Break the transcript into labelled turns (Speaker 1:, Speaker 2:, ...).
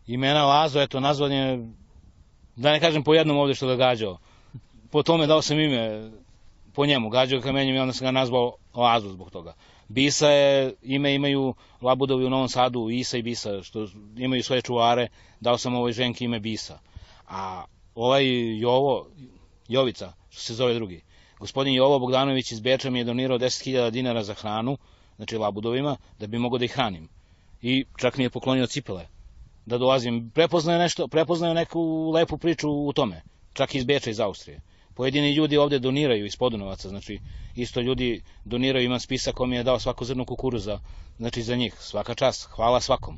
Speaker 1: Imena Lazo, eto, nazvan je, da ne kažem po jednom ovde što ga gađao. Po tome dao sam ime po njemu, gađao kamenjem i onda sam ga nazvao Lazo zbog toga. Bisa je, imaju Labudovi u Novom Sadu, Isa i Bisa, što imaju svoje čuvare, dao sam ovoj ženki ime Bisa. A ovaj Jovica, što se zove drugi, gospodin Jovo Bogdanović iz Beča mi je donirao 10.000 dinara za hranu, znači Labudovima, da bi mogao da ih hranim. I čak mi je poklonio cipele, da dolazim. Prepoznaju neku lepu priču u tome, čak iz Beča, iz Austrije. Pojedini ljudi ovde doniraju iz Podunovaca, znači isto ljudi doniraju, imam spisak ko mi je dao svako zrno kukuruza, znači za njih, svaka čast, hvala svakom.